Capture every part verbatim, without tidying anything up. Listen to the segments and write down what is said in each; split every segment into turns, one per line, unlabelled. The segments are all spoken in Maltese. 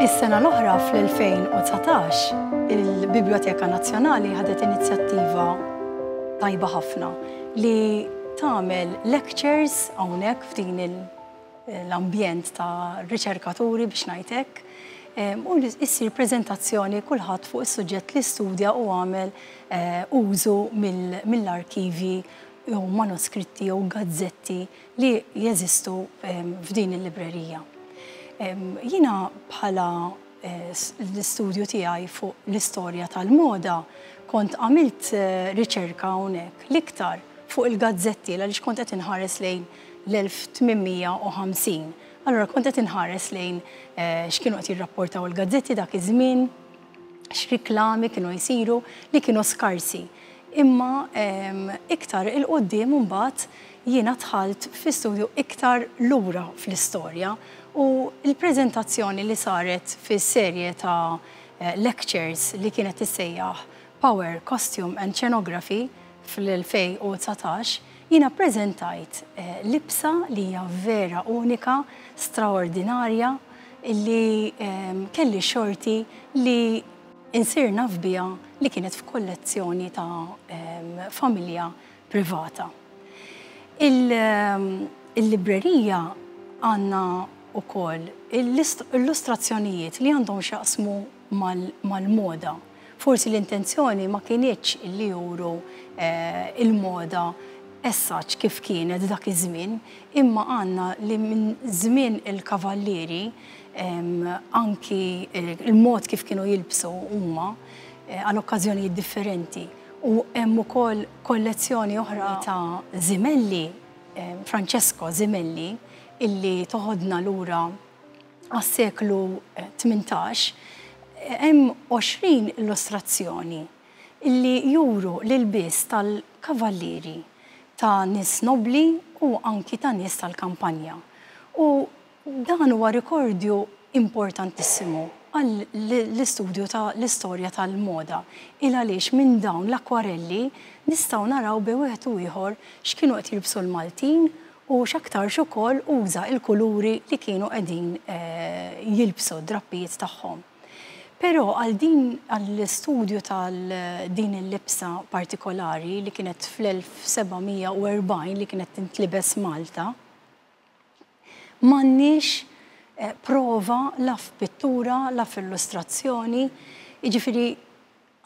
Is-sena l-oħra, fl-elfejn u dsatax, il-Biblioteka Nazzjonali ħadet inizjattiva tajba ħafna li tagħmel lectures hawnhekk f'din l-ambjent ta' riċerkaturi, biex ngħidlek, u issir prezentazzjoni kulħadd fuq is-suġġett li studja u għamel eh, użu mill-arkivi jew manuskritti jew gazzetti li jeżistu f'din il-librerija. Jiena bħala eh, l-istudju tiegħi fuq l-istorja tal-moda kont għamilt eh, riċerka hawnhekk l-iktar fuq il-gazzetti, għaliex kont qed inħares lejn l-elf tmien mija u ħamsin. Allora kont qed inħares lejn eh, x'kienu qed jirrapportaw il-gazzetti dak iż-żmien, x'riklami kienu jsiru li kienu skarsi. Imma iktar 'il quddiem mbagħad jiena dħalt fi studju iktar lura fl-istorja u l-preżentazzjoni li saret fis-serje ta' eh, lectures li kienet tissejjaħ Power, Costume and Scenography fl-elfejn u dsatax, jiena prezentajt eh, libsa li hija vera unika, straordinarja, li eh, kelli xorti li insir naf biha, li kienet f'kollezzjoni ta' eh, familja privata. Il-librerija għandna ukoll illustrazzjonijiet li għandhom x'jaqsmu mal-moda. Forsi l-intenzjoni ma kinitx li juru eh, il-moda essaċ kif kienet dak iż-żmien, imma għandna li minn żmien il-kavallieri, anki il-mod kif kienu jilbsu huma eh, għal okkażjonijiet differenti. U hemm ukoll kollezzjoni oħra ta' Zimelli, Francesco Zimelli, illi toħodna lura għas-seklu tmintax, hemm għoxrin illustrazzjoni illi juru l-ilbies tal-kavallieri, ta' nies nobli u anki ta' nies tal-kampanja. U dan huwa rikordju importantissimu għall-istudju ta' l-istorja tal-moda. Il għaliex minn dawn l-akwarelli nistgħu naraw bejn wieħed u ieħor x'kienu qed jilbsu l-Maltin u x'aktarx ukoll uża il-kuluri li kienu qegħdin eh, jilbsu drappijiet tagħhom. Però għal din għall-istudju tal-din il-libsa partikolari li kienet fl-elf seba' mija u erbgħin, li kienet tintlibes Malta, m'għandniex eh, prova la f'pittura, la f'illustrazzjoni, jiġifieri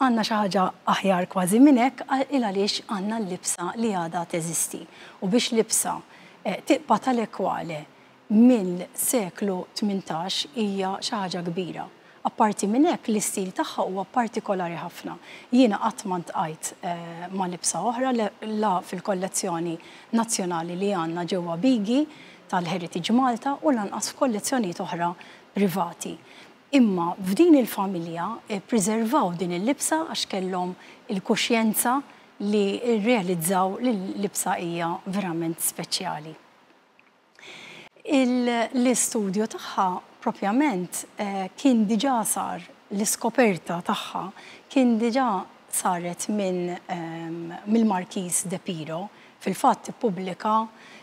għandna xi ħaġa aħjar kważi minn hekk, il għaliex għandna l-libsa li għadha teżisti. U biex libsa eh, tibqa' tale quale mill-seklu tmintax hija xi ħaġa kbira. Apparti minn hekk, l-istil tagħha huwa partikolari ħafna. Jiena qatt ma ltqajt eh, ma' libsa oħra, la fil-kollezzjoni nazzjonali li għandna ġewwa Bigi tal-Heritage Malta u lanqas f'kollezzjonijiet oħra privati. Imma f'din il-familja eh, preservaw din il-libsa għax kellhom il-kuxjenza li realizzaw li l-libsa hija verament speċjali. L-istudju tagħha propjament eh, kien diġà sar, l-iskoperta tagħha kien diġà saret minn ehm, mill-Marquis de Piro. Fil-fatt ippubblika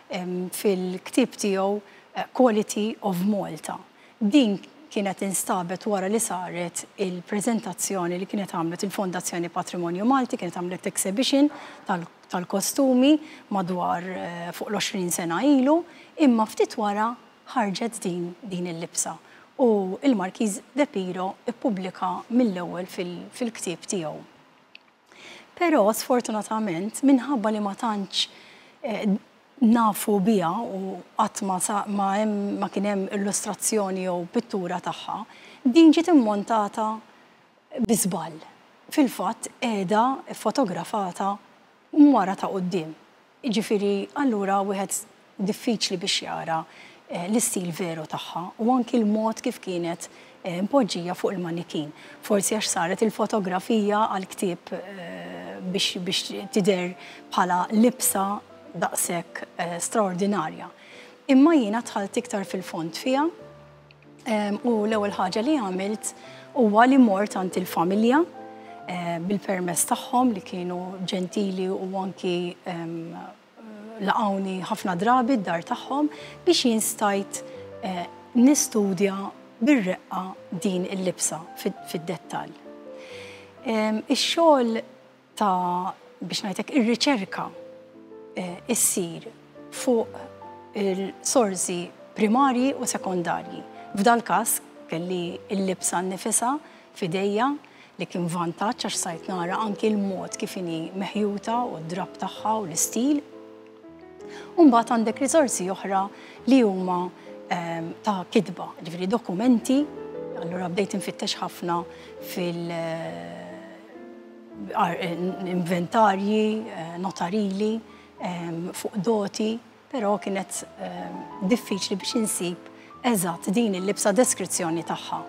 ehm, fil-ktieb tiegħu eh, Quality of Malta. Din kienet instabet wara li saret il-prezentazzjoni li kienet għamlet il-Fondazzjoni Patrimonju Malti, kienet għamlet exhibition tal-kostumi madwar eh, fuq l-għoxrin sena ilu, imma ftit wara ħarġet din din il-libsa. U il-Markiż de Piro ippubblika mill-ewwel fil-ktieb tiegħu. Però sfortunatament, minħabba li ma tantx eh, nafu biha u qatt ma, ma, ma kien hemm illustrazzjoni jew pittura tagħha, din ġiet immontata bi żball. Fil-fatt qiegħda fotografata wara ta' quddiem. Jiġifieri allura wieħed diffiċli biex jara eh, l-istil veru tagħha u anki l-mod kif kienet eh, mpoġġija fuq il-manikin. Forsi għax saret il-fotografija għal-ktieb eh, biex, biex tidher bħala libsa daqshekk straordinarja. Imma jiena dħalt iktar fil-fond fiha u l-ewwel ħaġa li għamilt huwa li mort għand il-familja bil-permess tagħhom, li kienu ġentili u anki laqawni ħafna drabi d-dar tagħhom, biex jien stajt eh, nistudja bir-reqqa din il-libsa fid-dettall. Ix-xogħol ta' biex ngħidlek ir-riċerka issir fuq il-sorsi primarji u sekondarji. F'dal każ kelli l-libsa nnifisha f'idejja, li kien vantaġġ għax sajt nara anki l-mod kif inhi meħjuta u d-drab tagħha u l-istil. U mbagħad għandek risorsi oħra li huma ta' kitba, ġifieri dokumenti. Allura bdejt infittex ħafna fil- inventarji, notarili, fuq doti, però kienet diffiċli biex insib eżatt din il-libsa deskrizzjoni tagħha.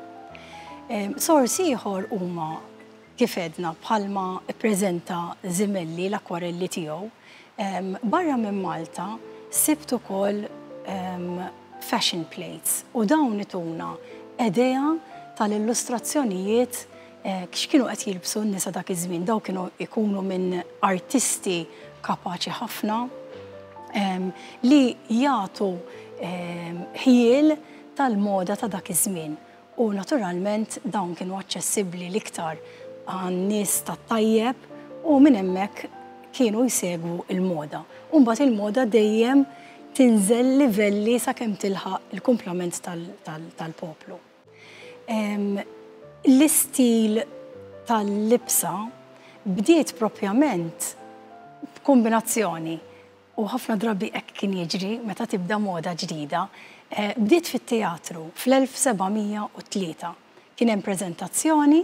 Sorsi ieħor huma, kif għedna, bħalma ppreżenta Zimelli l-akwarelli tiegħu. Barra minn Malta sibt ukoll fashion plates u dawn ituna idea tal-illustrazzjonijiet x'kienu qed jilbsu n-nisa dak iż-żmien. Dawn kienu jkunu minn artisti kapaċi ħafna li jagħtu ħjiel tal-moda ta' dak iż-żmien. U naturalment dawn kienu aċċessibbli l-iktar għan-nies tat-tajjeb u minn hemmhekk kienu jsegwu il-moda. U mbagħad il-moda dejjem tinżel livelli sakemm tilħaq il-kumplament tal-poplu. L-istil tal-libsa bdiet propjament b'kombinazzjoni, u ħafna drabi hekk kien jiġri meta tibda moda ġdida, bdiet fit-teatru fl-elf sebgħamija u tlieta. Kien hemm preżentazzjoni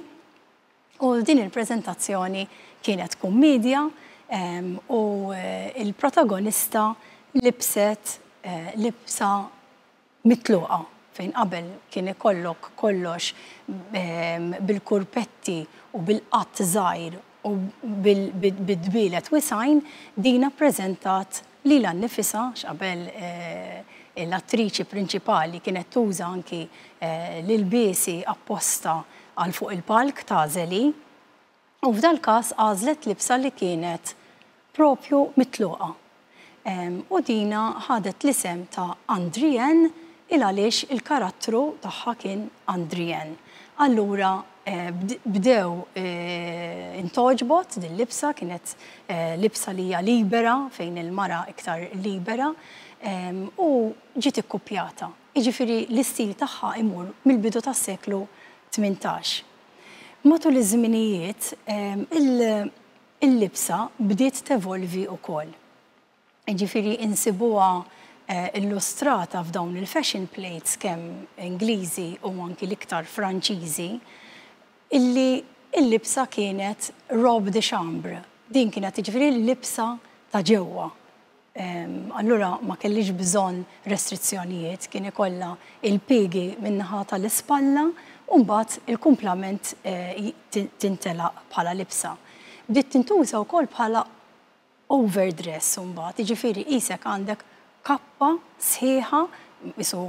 u din il-preżentazzjoni kienet kummedja u il-protagonista libset libsa mitluqa, fejn qabel kien ikollok kollox bil-kurpetti u bil-qatt żgħir u bid-dbielet wisgħin, dina ppreżentat lilha nnifisha, x'qabel l-attriċi prinċipali kienet tuża anki l-ilbiesi apposta għal fuq il-palk ta' Zeli, u f'dal każ għażlet libsa li kienet propju mitluqa. U dina ħadet l-isem ta' Andrienne il għaliex il-karattru tagħha kien Andrienne. Allura bdew intoġbot din libsa, kienet libsa li hija libera, fejn il-mara iktar libera, u ġiet ikkupjata. Jiġifieri l-istil tagħha imur mill-bidu tas-seklu tmintax. Matul iż-żminijiet il-libsa bdiet tevolvi wkoll. Jiġifieri insibuha illustrata f'dawn il-fashion plates kemm Ingliżi u anki l-iktar Franċiżi, illi il-libsa kienet robe de chambre. Din kienet jiġifieri l-libsa ta' ġewwa. Allura ma kellix bżonn restrizzjonijiet, kien ikollha il-piegi min-naħa tal-ispalla u mbagħad il-kumplament tintelaq bħala libsa. Bdiet tintuża wkoll bħala overdress mbagħad, jiġifieri qisek għandek kappa sħiħa, isu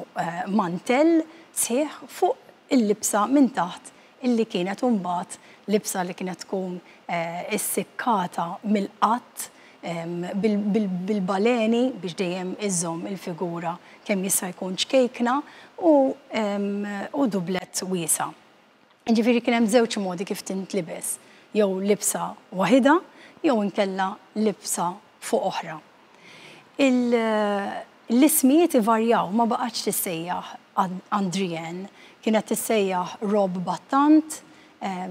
mantell sħiħ fuq il-libsa minn taħt, illi kienet mbagħad libsa li kienet tkun issikkata mill-qatt bil-baleni biex dejjem iżżomm il-figura kemm jista' jkun ċkejkna u dublet wiesa. Ġifieri kien hemm żewġ modi kif tintlibes, jew libsa waħida jew inkella libsa fuq oħra. L-ismijiet ivarjaw, ma baqgħetx tissejjaħ Andrienne, kienet tissejjaħ robe battant,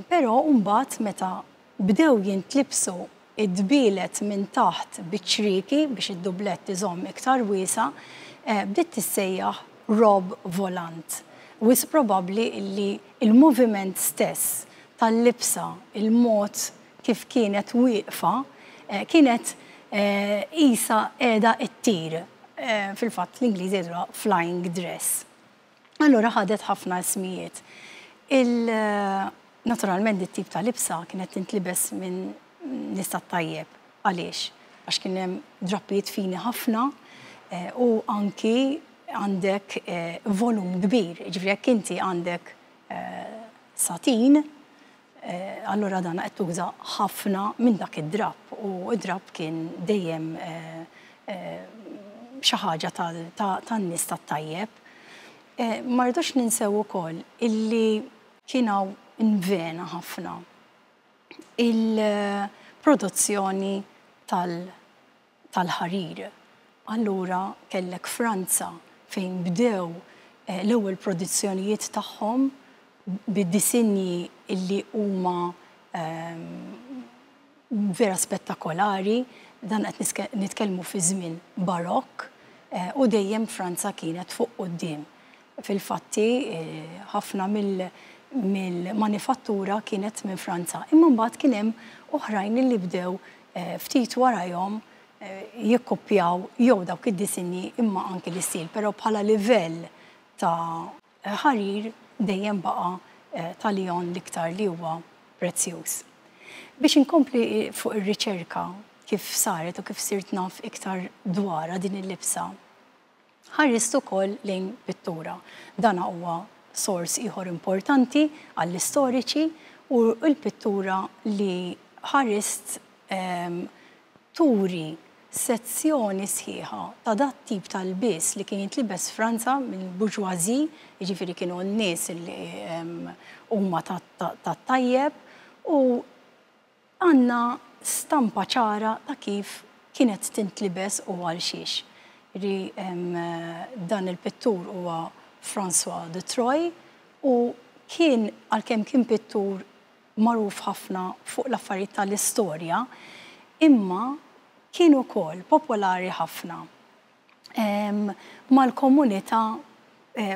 però mbagħad meta bdew jintlibsu id-dbielet minn taħt biċ-ċrieki biex id-dublett iżomm iktar wiesa, bdiet tissejjaħ robe volant. Wis probabbli li il-moviment stess tal-libsa, il-mod kif kienet wieqfa, kienet qisha qiegħda ttir. Fil-fatt l-Ingliżi jgħidulha flying dress. Allura ħadet ħafna ismijiet. Naturalment it-tip ta' libsa kienet tintlibes minn nies tat-tajjeb. Għaliex? Għax kien hemm drappijiet fini ħafna u anki għandek volum kbir. Ġifieri jekk inti għandek satin, allura dan qed tuża ħafna minn dak id-drapp, u id-drapp kien dejjem xi ħaġa tan-nies tat-tajjeb. Ma rridux ninsew ukoll illi kien hawn invena ħafna il-produzzjoni tal-ħarir. Allura kellek Franza fejn bdew l-ewwel produzzjonijiet tagħhom bid-disinji illi huma vera spettakolari, dan qed nitkellmu fi żmien barokk, u dejjem Franza kienet fuq quddiem. Fil-fatti ħafna mill-manifattura kienet minn Franza. Imma mbagħad kien hemm oħrajn li bdew ftit warajhom jikkopjaw jew dawk id-disinji imma anki l-istil, però bħala livell ta' ħarir dejjem baqa' ta' Lyon l-iktar li huwa prezzjuż. Biex inkompli fuq ir-riċerka kif saret u kif sirt naf iktar dwarha din il-libsa, ħarist ukoll lejn pittura. Dan huwa sors ieħor importanti għall-istoriċi u l-pittura li ħarist turi sezzjoni sħiħa ta' dat tip tal-lbies li kien jintlibes Franza mill-bourgeoisie, jiġifieri kienu n-nies li huma tat-tajjeb, u għandna stampa ċara ta' kif kienet tintlibes u għal xiex. Dan il-pittur huwa François de Troy u kien, għalkemm kien pittur magħruf ħafna fuq l-affarijiet tal-istorja, imma kien ukoll popolari ħafna mal-komunità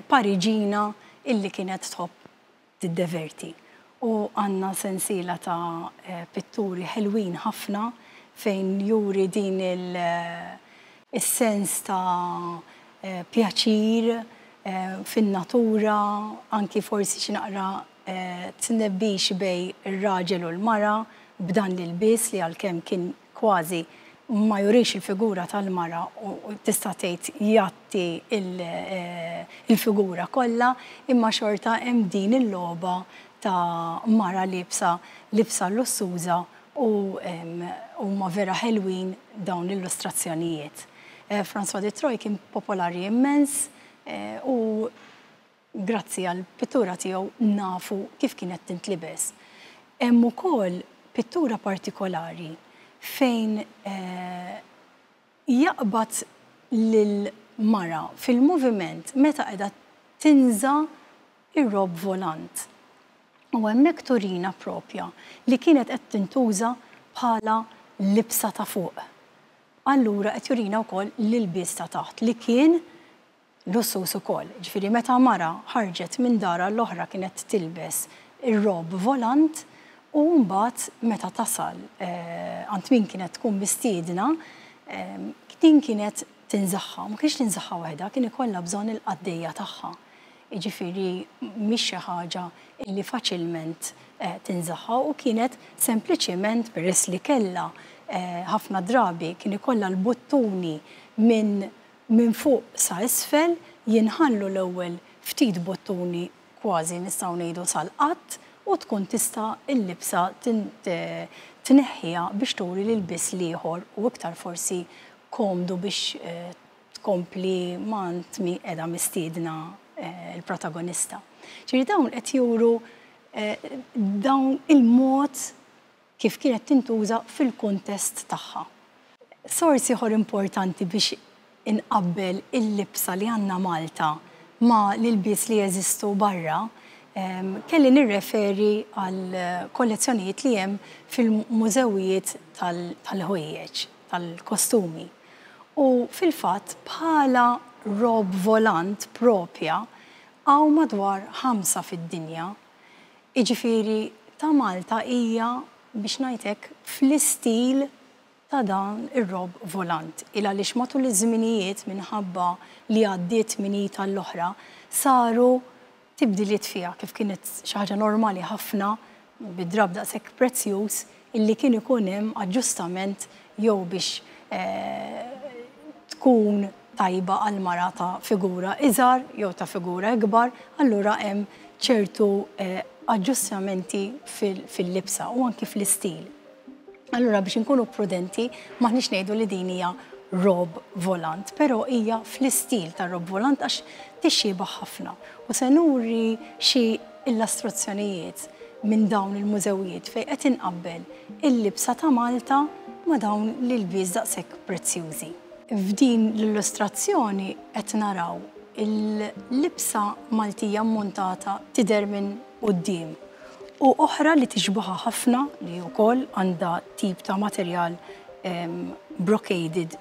Pariġina illi kienet tħobb tiddeverti. U għandna sensiela ta' pitturi ħelwin ħafna fejn juri din il-sens ta' pjaċir fin-natura, anki forsi xi naqra tnebbix bej ir-raġel u l-mara b'dan l-ilbies li għalkemm kien kważi ma jurix il-figura tal-mara u tista' tgħid jgħatti il-figura kollha, imma xorta hemm din il-logħba ta' mara libsa libsa lussuża u huma vera ħelwin dawn l-illustrazzjonijiet. François de Troy kien popolari immens u grazzi għal pittura tiegħu nafu kif kienet tintlibes. Hemm ukoll pittura partikolari fejn jaqbad lil mara fil-moviment meta qiegħda tinża' ir-rob volant. U hemmhekk turina propja li kienet qed tintuża bħala libsa ta' fuq. Allura qed jurina wkoll l-ilbies ta' taħt li kien lussus ukoll. Ġifieri meta mara ħarġet minn dara l-oħra kienet tilbes ir-rob volant u mbagħad meta tasal għand min kienet tkun mistiedna, din kienet tinżaħħa, ma kienx tinżaħħa waħedha, kien ikollha bżonn il-qaddejja tagħha. Jiġifieri mhix xi ħaġa li faċilment tinżaħħa u kienet sempliċiment peress li kellha ħafna drabi kien ikollha l-buttuni minn minn fuq sa isfel, jinħallu l-ewwel ftit buttuni kważi nistgħu ngħidu sal-qatt u tkun tista' l-libsa tneħħiha biex turi l-ilbies l-ieħor u iktar forsi komdu biex tkompli m'għand min qiegħda mistiedna il-protagonista. Ġifieri dawn qed juru dawn il-mod kif kienet tintuża fil-kuntest tagħha. Sors ieħor importanti biex inqabbel il-libsa li għandna Malta ma l-ilbies li jeżistu barra, kelli nirreferi għal kollezzjonijiet li hemm fil-mużewijiet tal-ħwejjeġ, tal-kostumi. U fil-fatt bħala rob volant propja hawn madwar ħamsa fid-dinja. Jiġifieri ta' Malta hija biex ngħidlek fl-istil ta' dan ir-rob volant. Il għaliex matul iż-żminijiet minħabba li għaddiet minn id għall-oħra saru tibdiliet fiha kif kienet xi ħaġa normali ħafna bid-drab daqshekk prezzjuż illi kien ikun hemm aġġustament jew biex tkun tajba għal mara ta' figura iżgħar jew ta' figura ikbar, allura hemm ċertu aġġustamenti fil-libsa u anki fl-istil. Allura biex inkunu prudenti, m'aħniex ngħidu li din hija robe volant, però hija fl-istil ta' robe volant għax tixxiebah ħafna. U se nuri xi illustrazzjonijiet minn dawn il-mużewijiet fejn qed inqabbel il-libsa ta' Malta ma' dawn l-ilbies daqshekk prezzjużi. F'din l-illustrazzjoni qed naraw il-libsa Maltija montata tidher minn quddiem u oħra li tixbaħa ħafna li wkoll għandha tip ta' materjal brocaded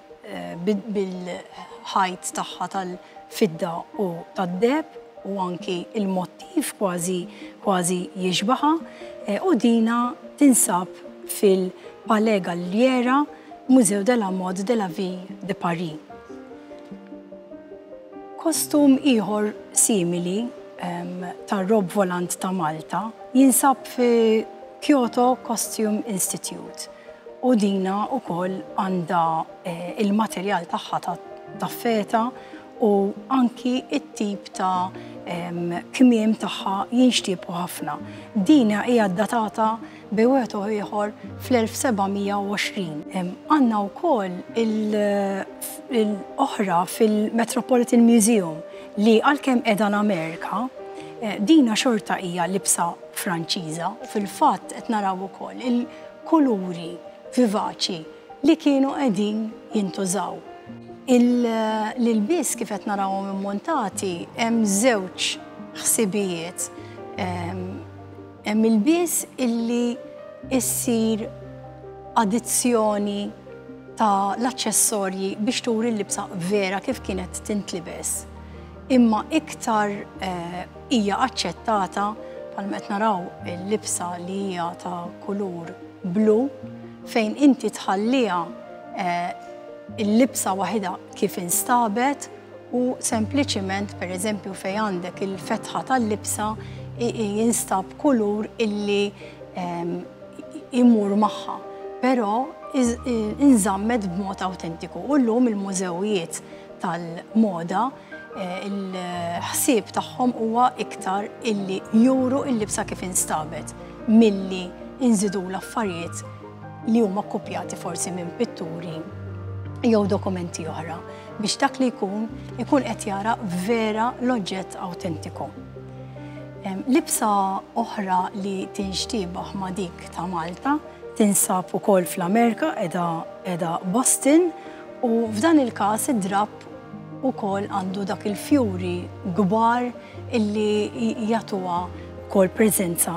bil-ħajt tagħha tal-fidda u tad-deheb u anki il-mottiv kważi kważi jixbaħa, u dina tinsab fil-Palais Galliera, Musée de la Mode de la Ville de Paris. Kostum ieħor simili tar-robe volant ta' Malta jinsab fi Kyoto Costume Institute u dina wkoll għandha il-materjal tagħha ta' feta u anki it-tip ta' kmiem tagħha jinxtiebu ħafna. Dina hija datata bejn wieħed u ieħor fl-elf seba' mija u għoxrin. Għandna wkoll l-oħra fil-Metropolitan Museum li għalkemm qiegħda l-Amerika, dina xorta hija libsa Franċiża u fil-fatt qed naraw ukoll il-kuluri vivaċi li kienu qegħdin jintużaw. L-ilbies kif qed narawhom immontati hemm żewġ ħsibijiet. Hemm ilbies illi issir addizzjoni ta' l-aċċessorji biex turi l-libsa vera kif kienet tintlibes. Imma iktar hija aċċettata bħalma qed naraw il-libsa li hija ta' kulur blu fejn inti tħalliha il-libsa waħedha kif instabet u sempliċiment per eżempju fejn għandek il-fetħa tal-libsa jinstab kulur illi imur magħha, però inżammet b'mod awtentiku. U llum il-mużewijiet tal-moda il-ħsieb tagħhom huwa iktar illi juru il-libsa kif instabet milli inżidu l-affarijiet li huma kkupjati forsi minn pitturi jew dokumenti oħra biex dak li jkun ikun qed jara vera l-oġġett awtentiku. Libsa oħra li tinxtiebaħ ma' dik ta' Malta tinsab ukoll fl-Amerika, qiegħda Boston, u f'dan il-każ id-drapp ukoll għandu dak il-fjuri kbar illi jagħtuha wkoll preżenza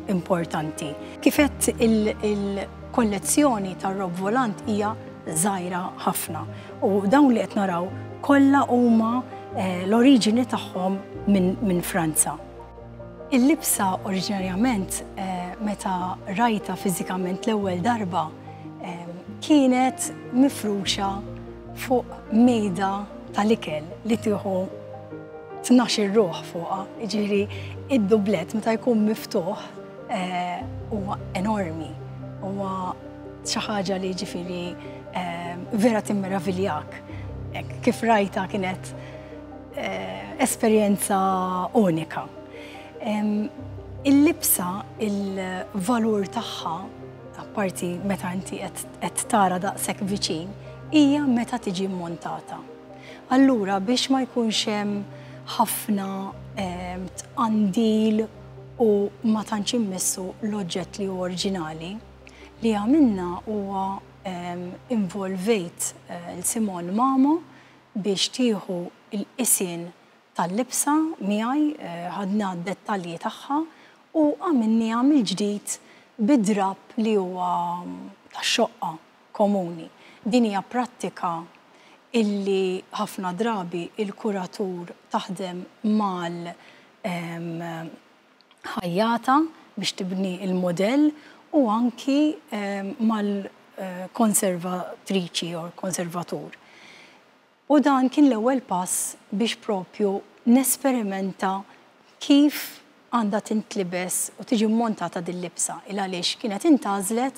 importanti. Kif qed il-kollezzjoni tar-robe volant hija żgħira ħafna u dawn li qed naraw kollha huma l-oriġini tagħhom minn Franza. Il-libsa oriġinarjament meta rajta fiżikament l-ewwel darba kienet mifruxa fuq mejda tal-ikel li tieħu tnax-il ruħ fuqha, jiġifieri id-dublet meta jkun miftuħ huwa enormi, huwa xi ħaġa li jiġifieri vera timmeraviljak. Kif rajta kienet esperjenza unika. Il-libsa, il-valur tagħha, apparti meta inti qed tara daqshekk viċin, hija meta tiġi mmontata. Allura biex ma jkunx hemm ħafna tqandil u ma tantx immissu l-oġġett li huwa oriġinali, li għamilna huwa involvejt l-Simon Mamo biex tieħu l-qisien tal-libsa miegħi, ħadna d-dettalji tagħha u għamilniha mill-ġdid bid-drapp li huwa tax-xoqqa komuni. Din hija prattika illi ħafna drabi il-kuratur taħdem mal-ħajjata biex tibni il-modell u anki mal-konservatriċi jew konservatur. U dan kien l-ewwel pass biex propju nesperimenta kif għandha tintlibes u tiġi mmontata din libsa il għaliex kienet intgħażlet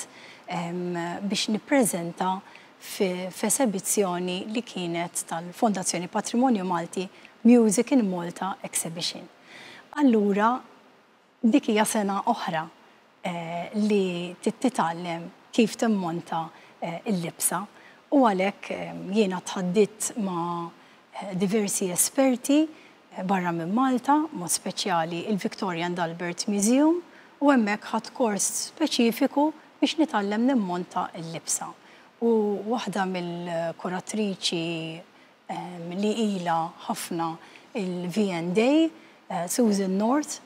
biex nippreżenta f'esebizzjoni li kienet tal-Fondazzjoni Patrimonju Malti Music in Malta Exhibition. Allura dik hija sena oħra li titgħallem kif timmonta il-libsa U għalhekk jiena tħadditt ma' diversi esperti barra minn Malta, mod speċjali il-Victoria and Albert Museum, u hemmhekk ħadt kors speċifiku biex nitgħallem nimmonta l-libsa. U waħda mill-kuratriċi li ila ħafna il-V and A, Susan North,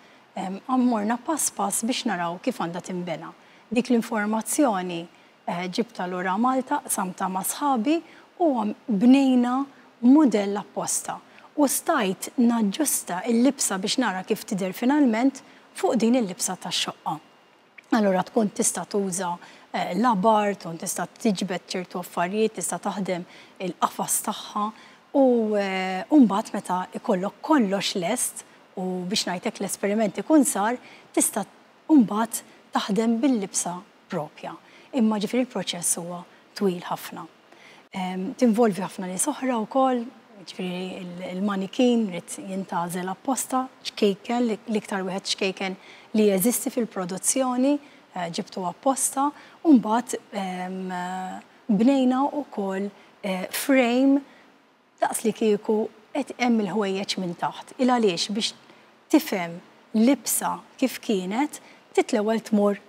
morna pass pass biex naraw kif għandha timbena. Dik l-informazzjoni ġibtha lura Malta, qsamtha ma' sħabi u bnejna modell apposta. U stajt naġġusta il-libsa biex nara kif tidher finalment fuq din il-libsa tax-xoqqa. Allora tkun tista' tuża labar, tkun tista' tiġbed ċertu affarijiet, tista' taħdem il-qafas tagħha u mbagħad meta ikollok kollox lest u, biex ngħidlek, l-esperiment ikun sar, tista' mbagħad taħdem bil-libsa propja. Imma ġifieri il-proċess huwa twil ħafna. Tinvolvi ħafna nies oħra wkoll, ġifieri il-manikin irid jintgħażel apposta, ċkejken, l-iktar wieħed ċkejken li jeżisti fil-produzzjoni, ġibtu apposta, u mbagħad bnejna wkoll frame daqs li kieku qed hemm il-ħwejjeġ minn taħt. Il għaliex biex tifhem libsa kif kienet, trid l-ewwel tmur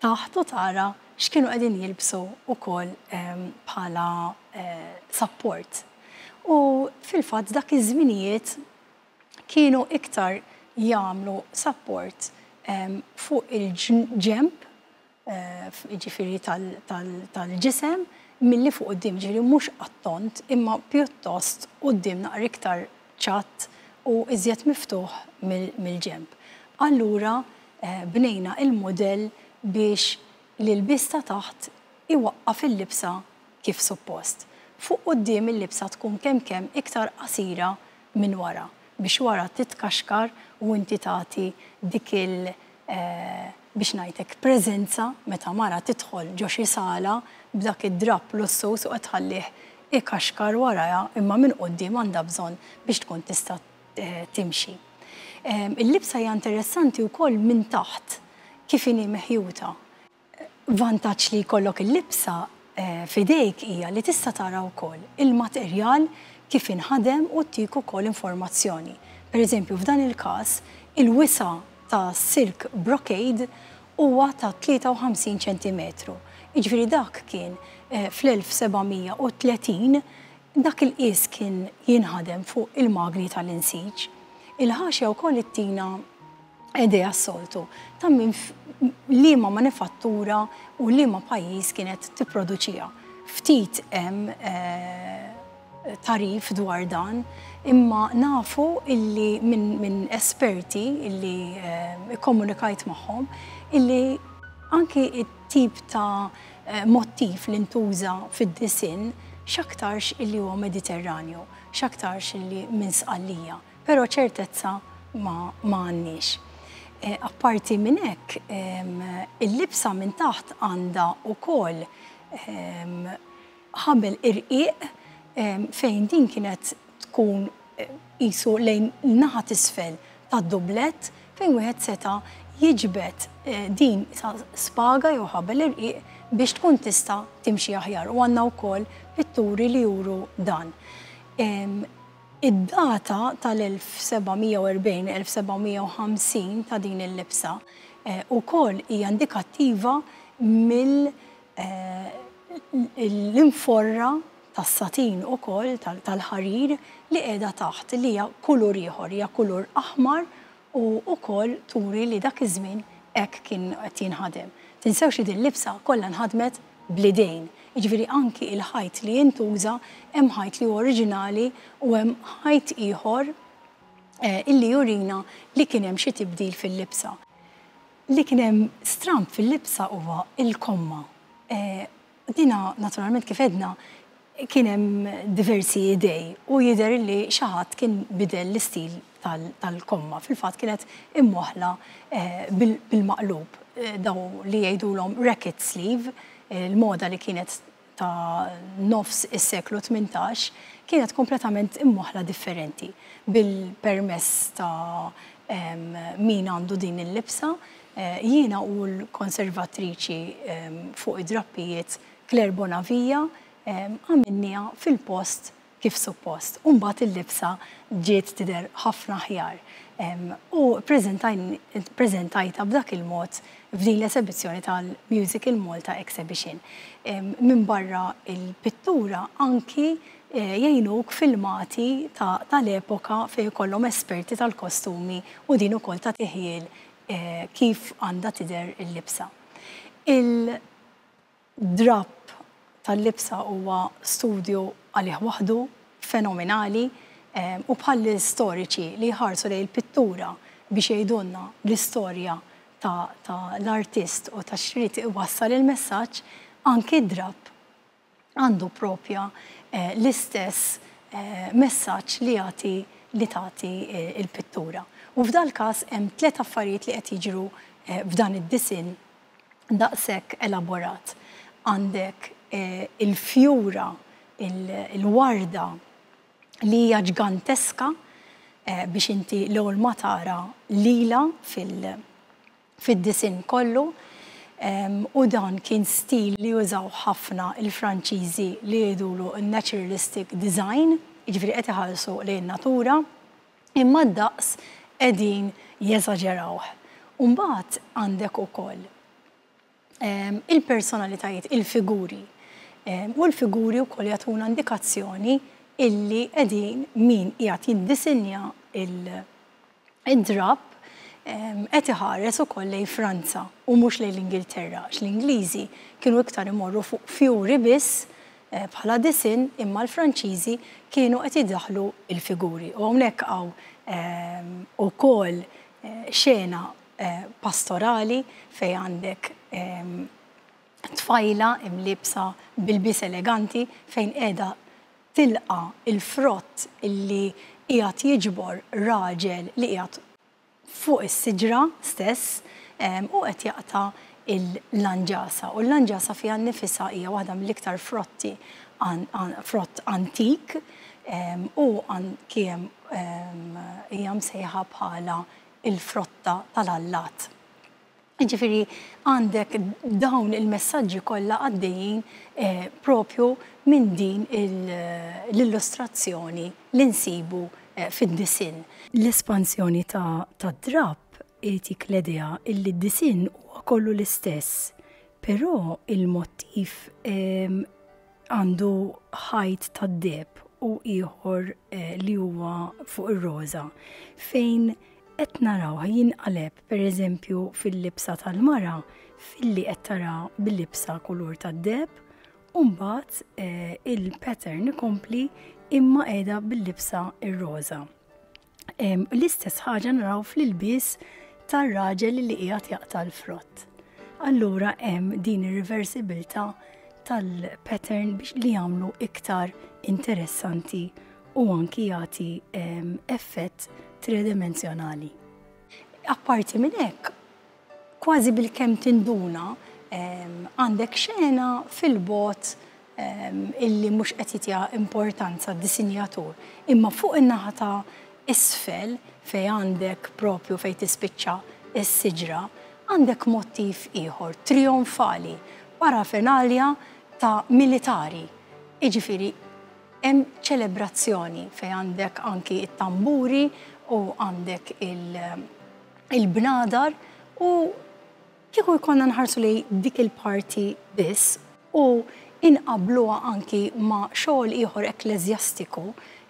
taħt u tara x'kienu qegħdin jilbsu wkoll bħala support. U fil-fatt dak iż-żminijiet kienu iktar jagħmlu support fuq il-ġemp, ġifieri tal-ġisem, milli fuq quddiem, ġifieri mhux għat-tond, imma pjuttost quddiem naqra iktar ċatt u iżjed miftuħ mill-ġemp. Allura bnejna il-modell biex l-ilbies ta' taħt iwaqqaf il-libsa kif suppost. Fuq quddiem il-libsa tkun kemm kemm iktar qasira minn wara biex wara titkaxkar u inti tagħti dik il- biex ngħidlek, preżenza meta mara tidħol ġo xi sala b'dak id-drap lussus u qed tħallih ikaxkar warajha, imma minn quddiem għandha bżonn biex tkun tista' timxi. Il-libsa hija interessanti wkoll minn taħt kif inhi meħjuta. Vantaġġ li jkollok il-libsa f'idejk hija li tista' tara wkoll il-materjal kif inħadem u ttik ukoll informazzjoni. Per eżempju, f'dan il-każ, il-wisa ta' silk brocade huwa ta' tlieta u ħamsin ċentimetru. Jiġifieri dak kien fl-elf seba' mija u tletin, dak il-qis kien jinħadem fuq il-magni tal-insiġ. Il-ħaxja wkoll ittina idea s-soltu ta' minn liema manifattura u liema pajjiż kienet tipproduċija. Ftit hemm tagħrif dwar dan, imma nafu illi minn min esperti illi ikkomunikajt magħhom illi anki it-tip ta' motif li ntuża fid-disinn x'aktarx illi huwa Mediterranju, x'aktarx illi minn Sqallija, però ċertezza ma għandniex. Apparti minn hekk, il-libsa minn taħt għandha wkoll ħabel irqiq fejn din kienet tkun qisu lejn naħa t'isfel tad-dublet, fejn wieħed seta' jiġbed din spaga jew ħabel irqiq biex tkun tista' timxi aħjar, u għandna wkoll pitturi li juru dan. Id-data tal-elf seba' mija u erbgħin-elf seba' mija u ħamsin ta' din il-libsa ukoll hija indikattiva mill l-inforra tas-satin ukoll tal-ħarir li qiegħda taħt, li hija kulur ieħor, hija kulur aħmar, u wkoll turi li dak iż-żmien hekk kien qed jinħadem. Tinsewx li din libsa kollha nħadmet bl-idejn. Jiġifieri anki il-ħajt li jintuża, hemm ħajt li oriġinali u hemm ħajt ieħor illi jurina li kien hemm xi tibdil fil-libsa. Li kien hemm stramp fil-libsa huwa il-komma. Dina naturalment, kif għedna, kien hemm diversi idej u jidher li xi ħadd kien bidel l-istil tal-komma. Fil-fatt kienet imwaħla bil-maqlub. Daw li jgħidulhom racket sleeve, il-moda li kienet ta' nofs is-seklu tmintax, kienet kompletament imwaħla differenti. Bil-permess ta' min għandu din il-libsa, jiena u l-konservatriċi fuq id-drappijiet Claire Bonavia għamilnieha fil-post kif suppost. U mbagħad il-libsa ġiet tidher ħafna aħjar. U prezentajtha b'dak il-mod f'din l-esebizzjoni tal-Music in Malta Exhibition. Minn barra il-pittura anki eh, jgħinuk filmati tal-epoka fejn kollhom esperti tal-kostumi u din ukoll ta' tiħjil eh, kif għandha tidher il-libsa. Il-drap tal-libsa huwa studju għalih waħdu fenomenali u bħal storiċi li jħarsu lejn il-pittura biex jgħidulna l-istorja ta' l-artist u ta' x'ried iwassal il-messaġġ, anki drap għandu propja eh, l-istess eh, messaġġ li jagħti li tagħti eh, il-pittura. U f'dal każ hemm tliet affarijiet li qed jiġru f'dan id-disinn daqshekk elaborat. Għandek il-fjura, il-warda li hija ġganteska biex inti l-ewwel ma tara lila fil-disinn kollu. U dan kien stil li jużaw ħafna il-Franċiżi li jgħidulu naturalistic design, jiġifieri qed iħarsu lejn natura, imma d-daqs qegħdin jeżaġerawh. Mbagħad għandek ukoll il-personalitajiet, il-figuri. U l-figuri wkoll jagħtuna indikazzjoni illi qegħdin min qiegħed jiddisinja il-drap qed iħares ukoll lejn Franza u mhux lejn l-Ingilterra, għax l-Ingliżi kienu iktar imorru fuq fjuri biss eh, bħala disinn imma l-Franċiżi kienu qed idaħlu il-figuri. U hawnhekk hawn ukoll eh, xena eh, pastorali fejn għandek tfajla imlibsa b'ilbies eleganti fejn qiegħda tilqa il-frott illi qiegħed jiġbor raġel li qiegħed fuq is-siġra stess u qed jaqta' il-lanġasa. U l-lanġasa fiha nnifisha hija waħda mill-iktar frotti frott antik u kien hija msejħa bħala il-frotta tal-allat. Ġifieri għandek dawn il-messaġġi kollha għaddejjin eh, propju minn din l-illustrazzjoni li nsibu eh, fid-disinn. L-espansjoni ta' drap itik l-idea illi d-disinn huwa kollu l-istess, però il-motiv għandu ħajt tad-deheb u ieħor eh, li huwa fuq ir-roża fejn qed naraw jinqaleb pereżempju fil-libsa tal-mara filli qed tara bil-libsa kulur tad-deheb u mbagħad eh, il-pattern ikompli imma qiegħda bil-libsa ir-roża. L-istess ħaġa naraw fl-ilbies tar-raġel li qiegħed jaqta' l-frott. Allura hemm din ir-reversibilità tal-pattern biex li jagħmlu iktar interessanti u anki jagħti effett tridimensjonali. Apparti minn hekk, kważi bil-kemm tinduna għandek xena fil-bogħod illi mhux qed jitiha importanza d-disinjatur, imma fuq in-naħa ta' isfel fejn għandek propju fejn tispiċċa s-siġra, għandek motiv ieħor trionfali, parafernalia ta' militari. Jiġifieri hemm ċelebrazzjoni fejn għandek anki it-tamburi u għandek il-bnadar u kieku jkollna nħarsu li dik il-parti biss u inqabluha anki ma' xogħol ieħor ekkleżjastiku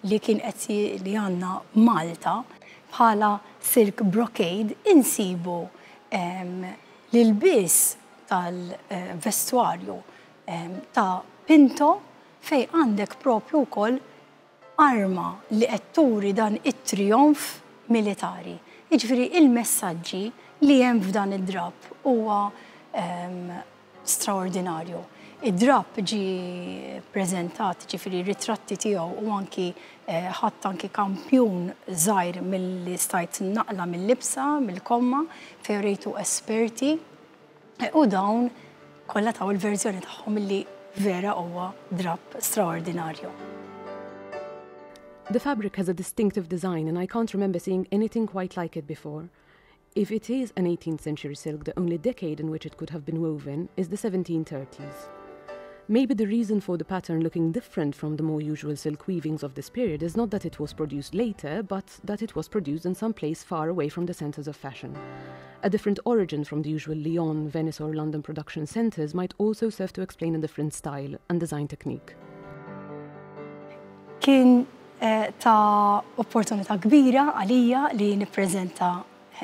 li kien qed li għandna Malta bħala silk brocade insibu l-ilbies tal-vestwarju ta' Pinto fejn għandek propju wkoll arma li qed turi dan it-trionf militari. Jiġifieri il-messaġġi li hemm f'dan id-drap huwa straordinarju. Id-drap ġi prezentat, ġifieri ritratti tiegħu u anki eh, ħadd anki kampjun żgħir milli stajt naqla' mill-libsa, mill-komma, fejn rejtu esperti u dawn kollha taw il-verżjoni tagħhom li vera huwa drap straordinarju.
The fabric has a distinctive design and I can't remember seeing anything quite like it before. If it is an eighteenth century silk, the only decade in which it could have been woven is the seventeen thirties. Maybe the reason for the pattern looking different from the more usual silk weavings of this period is not that it was produced later, but that it was produced in some place far away from the centers of fashion. A different origin from the usual Lyon, Venice or London production centers might also serve to explain a different style and design technique.
Kien eh, ta' opportunità kbira għalija li nippreżenta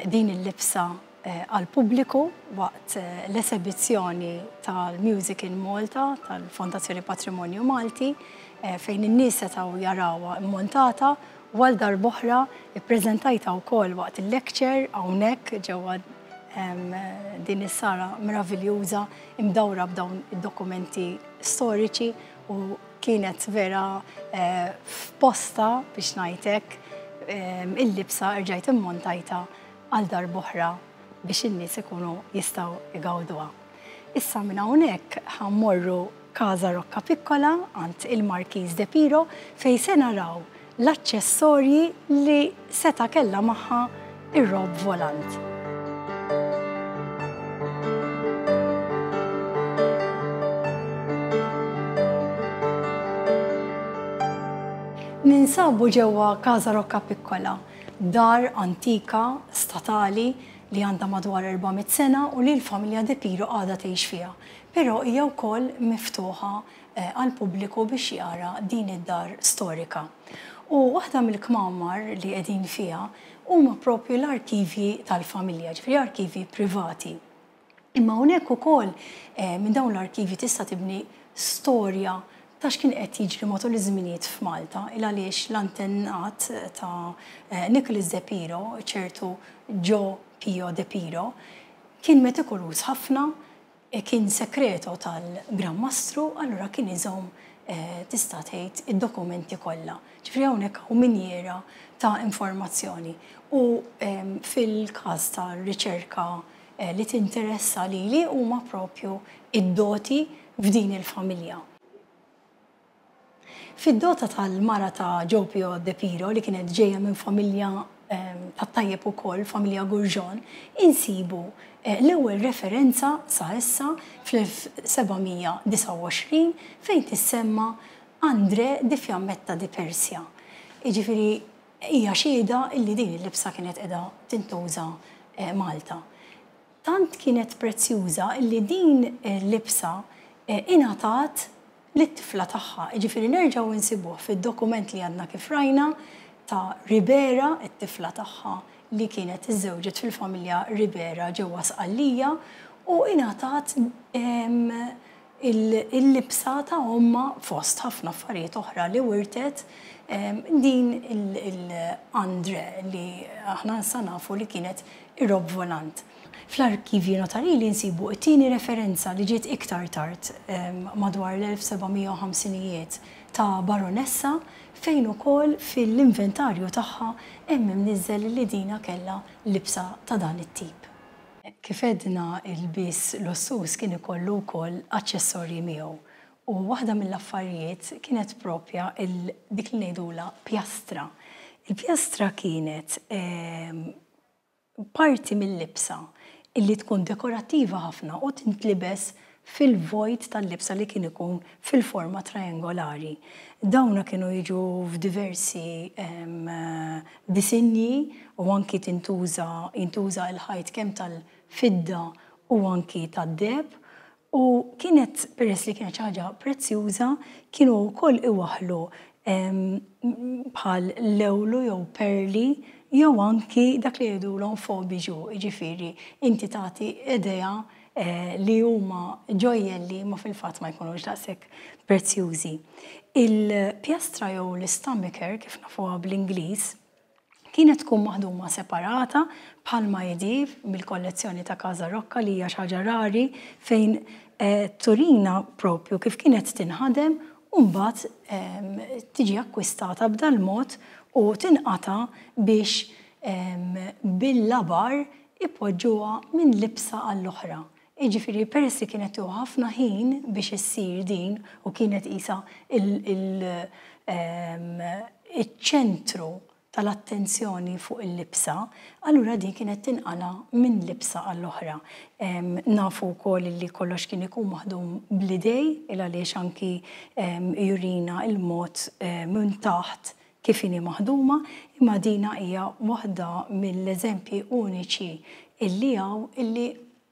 din il-libsa eh, għal-pubbliku waqt eh, l-esebizzjoni tal-Music in Malta, tal-Fondazzjoni Patrimonju Malti, fejn in-nies setgħu jarawha montata u għal darb'oħra ippreżentajtha wkoll waqt il-lecture hawnhekk ġewwa din is-sala meraviljuża imdawra b'dawn id-dokumenti storiċi u kienet vera eh, f'postha biex ngħidlek il-libsa rġajt immontajtha għal darb'oħra biex in-nies ikunu jistgħu igawduha. Issa minn hawnhekk ħa mmorru Casa Rocca Piccola għand il-Markiż de Piro fejn se naraw l-aċċessorji li seta' kellha magħha ir-robe volant. Ninsabu ġewwa Casa Rocca Piccola, dar antika statali li għandha madwar erba' mitt sena u li l-familja De Piro għadha tgħix fiha. Però hija wkoll miftuħa eh, għal pubbliku biex jara din id-dar storika. U waħda mill-kmamar li qegħdin fiha huma propju l-arkivji tal-familja, ġifieri arkivji privati. Imma hawnhekk ukoll eh, minn dawn l-arkivji tista' tibni storja ta' x'kien qed jiġri matul iż-żminijiet f'Malta, il għaliex l-antennat ta' eh, Nicholas De Piro, ċertu Joe Pio De Piro, kien metikoluż ħafna, e kien sekreto tal-Gran Mastru, allura kien iżomm eh, tista' tgħid id-dokumenti kollha. Ġifieri hawnhekk hawn minjera ta' informazzjoni. U fil-każ ta' riċerka eh, li tinteressa lili huma propju id-doti f'din il-familja. Fid-dota tal-mara ta' Joe Pio De Piro li kienet ġejja minn familja ta' tajjeb ukoll, familja Gurġon, insibu eh, l-ewwel referenza sa issa fl-elf seba' mija disgħa u għoxrin fejn tissemma Andre di Fiammetta di Persia. Jiġifieri hija xhieda illi din il-libsa kienet qiegħda tintuża eh, Malta. Tant kienet prezzjuża illi din il-libsa eh, ingħatat lit-tifla tagħha. Jiġifieri nerġgħu insibuh fid-dokument li għandna kif rajna ta' Ribera, it-tifla tagħha li kienet iżżewġet fil-familja Ribera ġewwa Sqallija u ingħatat il-libsa ta' omma fost ħafna affarijiet oħra li wirtet din il-Andre li aħna issa nafu li kienet ir-robe volant. Fl-arkivji notarili nsibu it-tieni referenza li ġiet iktar tard, madwar l-elf seba' mija u ħamsinijiet, ta' baronessa fejn ukoll fil-inventarju tagħha hemm imniżżel li dina kellha libsa ta' dan it-tip. Kif għedna, l-ilbies lussuż kien ikollu wkoll aċċessorji miegħu. U waħda mill-affarijiet kienet propja dik li ngħidula pjastra. Il-pjastra kienet parti mill-libsa illi tkun dekorattiva ħafna u tintlibes fil-vojt tal-libsa li kien ikun fil-forma triangolari. Dawna kienu jiġu f'diversi disinji u anki tintuża jintuża il-ħajt kemm tal-fidda u anki tad-deheb u kienet, peress li kienet ħaġa prezzjuża, kienu wkoll iwaħlu bħal lewlu jew perli jew anki dak li jgħidulhom faux bijoux, jiġifieri inti tagħti idea eh, li huma ġojjelli ma fil-fatt ma jkunux daqshekk prezzjużi. Il-pjastra jew l-stomacher, kif nafuha bl-Ingliż, kienet tkun maħduma separata bħalma jidher mill-kollezzjoni ta' Casa Rocca, li hija xi ħaġa rari fejn eh, turina propju kif kienet tinħadem u mbagħad tiġi akkwistata b'dal-mod u tinqata biex bil-labar ipoġġuha minn libsa għall-oħra. Jiġifieri peress li kienet tieħu ħafna ħin biex issir din u kienet isa il-ċentru tal-attenzjoni fuq il-libsa, allura din kienet tinqala minn libsa għall-oħra. Nafu wkoll li kollox kien ikun maħdum bl-idejn, il għaliex anki jurina il-mod minn taħt kif inhi maħduma, imma dina hija waħda mill-eżempji uniċi illi hawn illi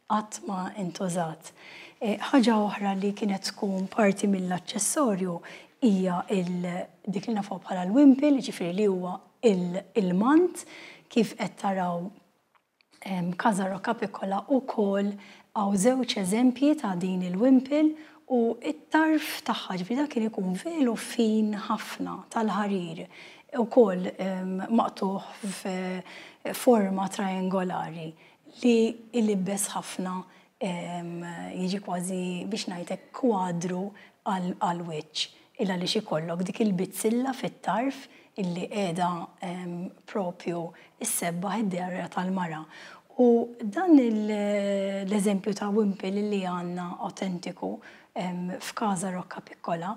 qatt ma intużat. Ħaġa oħra li kienet tkun parti mill-aċċessorju hija dik li nafu bħala l-wimple, ġifieri li huwa il-mant, kif qed taraw Casa Rocca Piccola ukoll hawn żewġ eżempji ta' din il-wimple u it-tarf tagħha, ġifieri dak kien ikun velu fin ħafna tal-ħarir, ukoll maqtugħ f'forma triangolari li ilibbes ħafna, jiġi kważi biex ngħidlek kwadru għal-wiċċ, illa li ikollok dik il-bizzilla fit-tarf illi qiegħda propju issebbaħ id-dehra tal-mara. U dan l-eżempju ta' wimple li għandna autentiku f'Casa Rocca Piccola,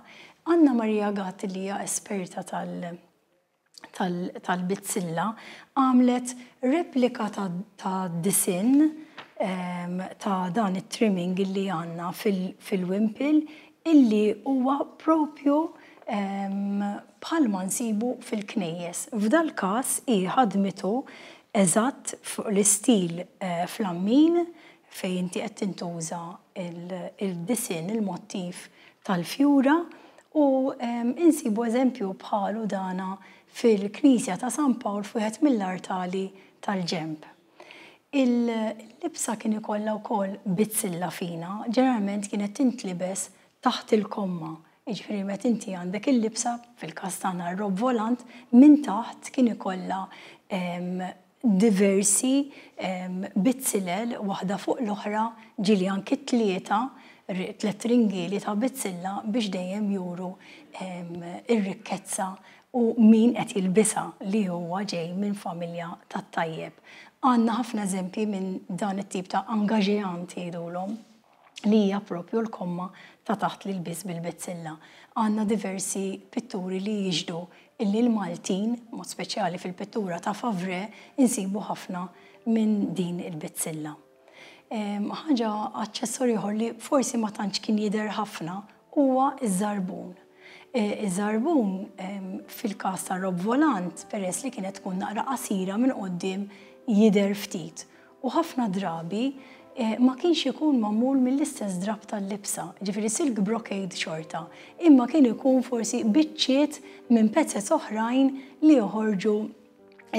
Anna Maria Gatt, li hija esperta tal-bizzilla, għamlet replika ta' disinn ta' dan it-trimming illi għandna fil-wimple, illi huwa propju bħalma nsibu fil-knejjes. F'dal każ hi ħadmitu eżatt fuq l-istil flammin fejn inti qed tintuża il-disinn, il-mottiv tal-fjura, u insibu eżempju bħalu dana fil-Knisja ta' San Pawl fuħet mill-artali tal-ġemp. Il-libsa kien ikollha wkoll bizzilla fina, ġeneralment kienet tintlibes taħt il-komma. Jiġifieri meta inti għandek il-libsa, fil-każ tagħna r-rob volant, minn taħt kien ikollha diversi bizzilel waħda fuq l-oħra, ġieli anki tlieta, tliet ringieli ta' bizzilla biex dejjem juru ir-rikkezza u min qed jilbisha li huwa ġej minn familja tat-tajjeb. Għandna ħafna eżempji minn dan it-tip ta' angaġeant jgħidulhom, li hija propju l-komma ta' taħt li l-bis bil-bizzilla. Għandna diversi pitturi li jixhdu illi l-Maltin, mod speċjali fil-pittura ta' Favre, insibu ħafna minn din il-bizzilla. Ħaġa aċċessorju ieħor li forsi ma tantx kien jidher ħafna huwa iż-żarbun. Iż-żarbun fil-każ ta' rob volant, peress li kienet tkun naqra qasira minn quddiem, jidher ftit. U ħafna drabi ma kienx ikun magħmul mill-istess drab tal-libsa, ġifieri silk brocade xorta, imma kien ikun forsi biċċiet minn pezzet oħrajn li joħorġu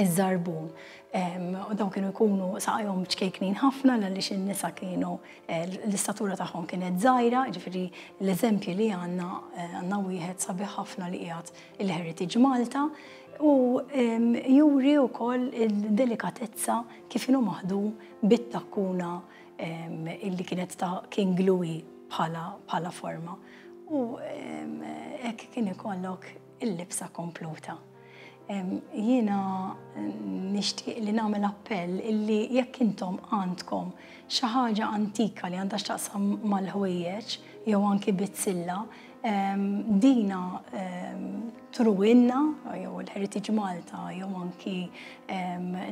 iż-żarbun. U dawn kienu jkunu saqajhom ċkejknin ħafna għaliex in-nisa kienu l-istatura tagħhom kienet żgħira, ġifieri l-eżempji li għandna għandna wieħed sabiħ ħafna li qiegħed il-Heritage Malta, u juri wkoll il-delikatezza kif inhu maħdum bit-takkuna illi kienet ta' King Louis bħala forma. U hekk kien ikollok il-libsa kompluta. Jiena nixtieq li nagħmel appell illi jekk intom għandkom xi ħaġa antika li għandha x'taqsam mal-ħwejjeġ jew anki bizzilla, dina truwinna jew il-Heritage Malta jew anki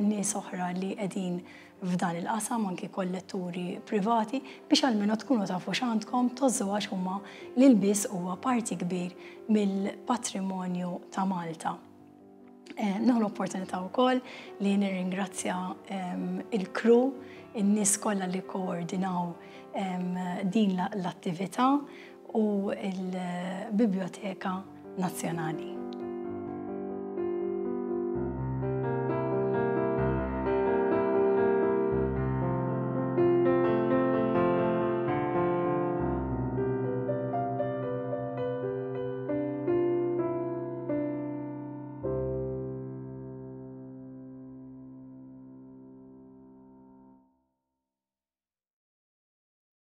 nies oħra li qegħdin f'dan il-qasam, anki kolletturi privati, biex almenu tkunu tafu x'għandkom tożżu, għax huma l-ilbies huwa parti kbir mill-patrimonju ta' Malta. Nieħu l-opportunità wkoll li nirringrazzja il-crew, in-nies kollha li koordinaw din l-attività u l-Biblioteka Nazzjonali.